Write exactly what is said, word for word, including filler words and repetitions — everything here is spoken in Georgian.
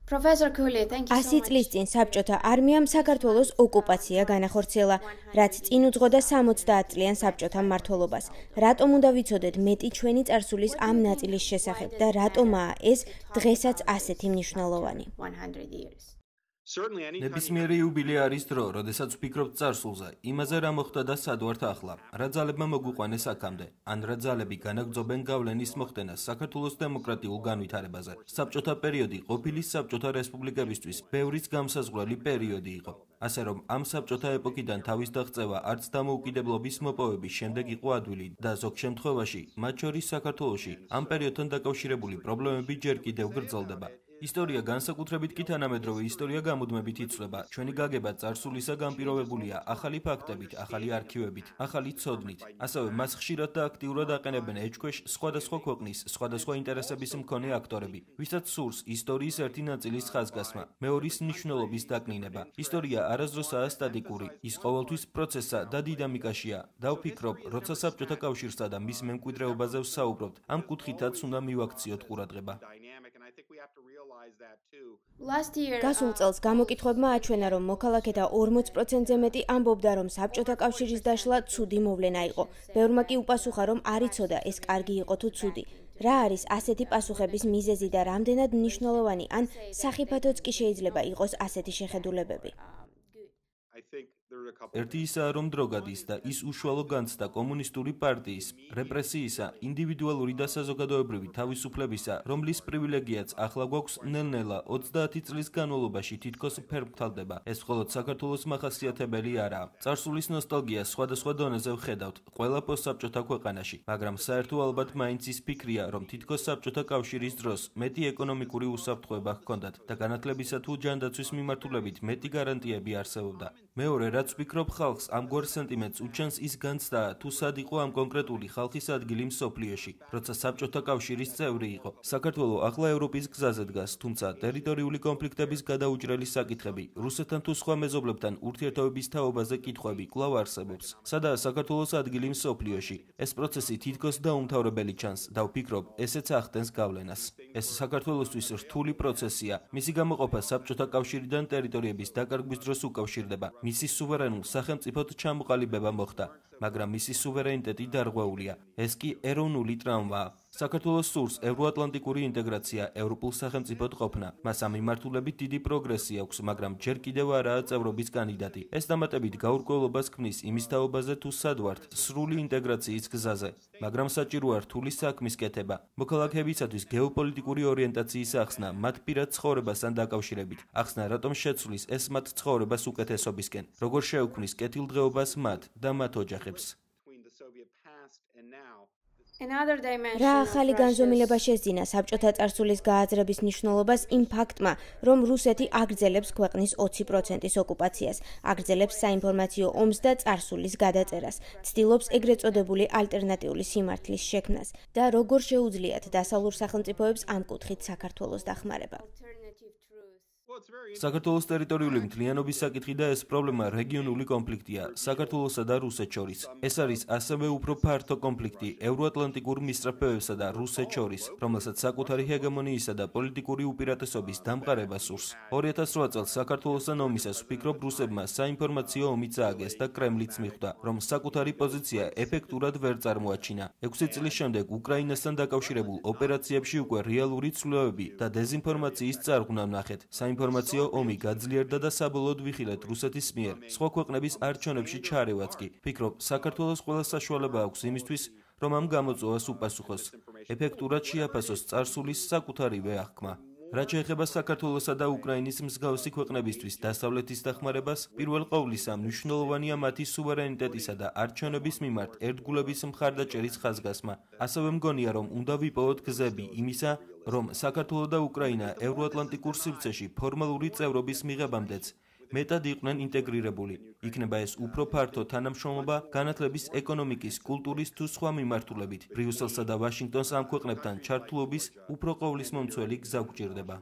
Professor Cooley, thank you so ასი წლის წინ საბჭოთა არმიამ საქართველოს ოკუპაცია განახორციელა, რაც წინ უძღოდა სამოცდაათ წლიან საბჭოთა მმართველობას. რატომ უნდა ვიცოდეთ მეტი ჩვენი წარსულის ამ ნაწილის შესახებ და რატომაა ეს დღესაც ასეთი მნიშვნელოვანი? ნებისმიერი იუბილე არის დრო, როდესაც ვფიქრობთ წარსულზე, იმაზე რა მოხდა და სად ვართ ახლა, რა ძალებმა მოგვიყვანეს აქამდე, ან რა ძალები განაგრძობენ გავლენის მოხდენას საქართველოს დემოკრატიულ განვითარებაზე. საბჭოთა პერიოდი ყოფილი საბჭოთა რესპუბლიკებისთვის ბევრის გამსაზღვრელი პერიოდი იყო. ასე რომ ამ საბჭოთა ეპოქიდან თავის დაღწევა არც დამოუკიდებლობის მოპოვების შემდეგ იყო ადვილი და ზოგ შემთხვევაში, მათ შორის საქართველოში, ამ პერიოდთან დაკავშირებული პრობლემები ჯერ კიდევ გრძელდება. ისტორია განსაკუთრებით კი თანამედროვე ისტორია გამუდმებით იცვლება. ჩვენი გაგება წარსულისა განპირობებულია ახალი ფაქტებით, ახალი არქივებით, ახალი ცოდნით. ასევე მას ხშირად და აქტიურად აყენებენ ეჭქვეშ სხვადასხვა ქვეყნის, სხვადასხვა ინტერესების მქონე აქტორები, ვისაც სურს ისტორიის ერთი ნაწილის ხაზგასმა, მეორის მნიშვნელობის დაკნინება. ისტორია არასდროსაა სტატიკური, ის ყოველთვის პროცესსა და დინამიკაშია. და ვფიქრობ, როცა საბჭოთა კავშირსა და მის მემკვიდრეობაზე ვსაუბრობთ, ამ კუთხითაც უნდა მივაქციოთ ყურადღება. გასულ წელს გამოკითხვებმა აჩვენა, რომ მოქალაქეთა ორმოც პროცენტზე მეტი ამბობდა, რომ საბჭოთა კავშირის დაშლა ცუდი მოვლენა იყო. ბევრმა კი უპასუხა, რომ არ იცოდა ეს კარგი იყო თუ ცუდი. რა არის ასეთი პასუხების მიზეზი და რამდენად მნიშვნელოვანი ან სახიფათოც კი შეიძლება იყოს ასეთი შეხედულებები? ერთი ისაა, რომ დრო გადის და ის უშუალო განცდა კომუნისტური პარტიის, რეპრესიისა, ინდივიდუალური და საზოგადოებრივი თავისუფლებისა, რომლის პრივილეგიაც ახლა გვაქვს ნელ-ნელა ოცდაათი წლის განმავლობაში თითქოს ფერმფრთალდება. ეს მხოლოდ საქართველოს მახასიათებელი არაა. წარსულის ნოსტალგია სხვადასხვა დონეზე ვხედავთ ყველა პოსტსაბჭოთა ქვეყანაში, მაგრამ საერთო ალბათ მაინც ის ფიქრია, რომ თითქოს საბჭოთა კავშირის დროს მეტი ეკონომიკური უსაფრთხოება ჰქონდათ და განათლებისა თუ ჯანდაცვის მიმართულებით მეტი გარანტიები არსებობდა. მეორე რაც ვფიქრობ, ხალხს ამგვარ სენტიმენტს უჩენს ის განცდა, თუ სად იყო ამ კონკრეტული ხალხის ადგილი მსოფლიოში, როცა საბჭოთა კავშირის წევრი იყო. საქართველო ახლა ევროპის გზაზე დგას, თუმცა ტერიტორიული კონფლიქტების გადაუჭრელი საკითხები, რუსეთთან თუ სხვა მეზობლებთან ურთიერთობების თაობაზე კითხვები კვლავ არსებობს. სადაა საქართველოს ადგილი მსოფლიოში? ეს პროცესი თითქოს დაუმთავრებელი ჩანს და ვფიქრობ, ესეც ახდენს გავლენას. ეს საქართველოსთვის რთული პროცესია. მისი გამოყოფა საბჭოთა კავშირიდან ტერიტორიების დაკარგვის დროს უკავშირდება. მისი სუვერენულ სახელმწიფოდ ჩამოყალიბება მოხდა, მაგრამ მისი სუვერენიტეტი დარღვეულია. ეს კი ეროვნული ტრამვაა. საქართველოს სურს ევროატლანტიკური ინტეგრაცია, ევროპულ სახელმწიფოდ ყოფნა. მას ამ მიმართულებით დიდი პროგრესი აქვს, მაგრამ ჯერ კიდევ არაა წევრობის კანდიდატი. ეს დამატებით გაურკვევლობას ქმნის იმის თაობაზე, თუ სად ვართ სრული ინტეგრაციის გზაზე, მაგრამ საჭიროა რთული საქმის კეთება. მოქალაქეებისათვის გეოპოლიტიკური ორიენტაციის ახსნა, მათ პირად ცხოვრებასთან დაკავშირებით. ახსნა რატომ შეცვლის ეს მათ ცხოვრებას უკეთესობისკენ, როგორ შეუქმნის კეთილდღეობას მათ და მათ ოჯახებს. რა ახალი განზომილება შესძინა საბჭოთა წარსულის გააზრების მნიშვნელობას იმ ფაქტმა, რომ რუსეთი აგრძელებს ქვეყნის ოცი პროცენტის ოკუპაციას, აგრძელებს საინფორმაციო ომს და წარსულის გადაწერას, ცდილობს ეგრეთ წოდებული ალტერნატიული სიმართლის შექმნას და როგორ შეუძლიათ დასავლურ სახელმწიფოებს ამ კუთხით საქართველოს დახმარება. საქართველოს ტერიტორიული მთლიანობის საკითხი და ეს პრობლემა რეგიონული კონფლიქტია საქართველოსა და რუსეთს შორის. ეს არის ასევე უფრო ფართო კონფლიქტი ევროატლანტიკურ მისწრაფებებსა და რუსეთს შორის, რომელსაც საკუთარი ჰეგემონიისა და პოლიტიკური უპირატესობის დამყარება სურს. ორი ათას რვა წელს საქართველოსთან ომისას ვფიქრობ, რუსებმა საინფორმაციო ომიც ააგეს და კრემლიც მიხვდა, რომ საკუთარი პოზიცია ეფექტურად ვერ წარმოაჩინა. ექვსი წლის შემდეგ უკრაინასთან დაკავშირებულ ოპერაციებში უკვე რეალური ცვლილებები და დეზინფორმაციის წარღვნა ვნახეთ. საინფორმაციო ომი გაძლიერდა და საბოლოოდ ვიხილეთ რუსეთის მიერ სხვა ქვეყნების არჩევნებში ჩარევაც კი. ვფიქრობ, საქართველოს ყველა საშუალება აქვს იმისთვის, რომ ამ გამოწვევას უპასუხოს, ეფექტურად შეაფასოს წარსულის საკუთარივე აღქმა. რაც შეეხება საქართველოსა და უკრაინის მსგავსი ქვეყნებისთვის დასავლეთის დახმარებას, პირველ ყოვლისა მნიშვნელოვანია მათი სუვერენიტეტისა და არჩევნების მიმართ ერთგულების მხარდაჭერის ხაზგასმა. ასევე მგონია, რომ უნდა ვიპოვოთ გზები იმისა, რომ საქართველო და უკრაინა ევროატლანტიკურ სივრცეში ფორმალური წევრობის მიღებამდეც მეტად იყვნენ ინტეგრირებული. იქნება ეს უფრო ფართო თანამშრომლობა განათლების, ეკონომიკის, კულტურის თუ სხვა მიმართულებით. ბრიუსელსა და ვაშინგტონს ამ ქვეყნებთან ჩართულობის უფრო ყოვლისმომცველი გზა გვჭირდება.